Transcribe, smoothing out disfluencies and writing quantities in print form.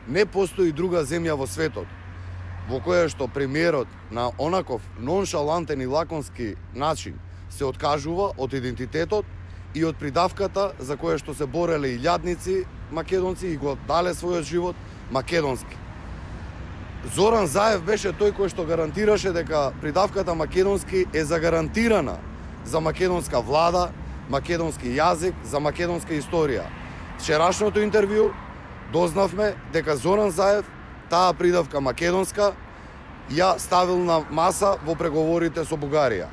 Не постои друга земја во светот во која што премиерот на онаков ноншалантен и лаконски начин се откажува од идентитетот и од придавката за која што се бореле илјадници македонци и го дале својот живот македонски. Зоран Заев беше тој кој што гарантираше дека придавката македонски е загарантирана за македонска влада, македонски јазик, за македонска историја. Вчерашното интервју дознавме дека Зоран Заев таа придавка македонска ја ставил на маса во преговорите со Бугарија.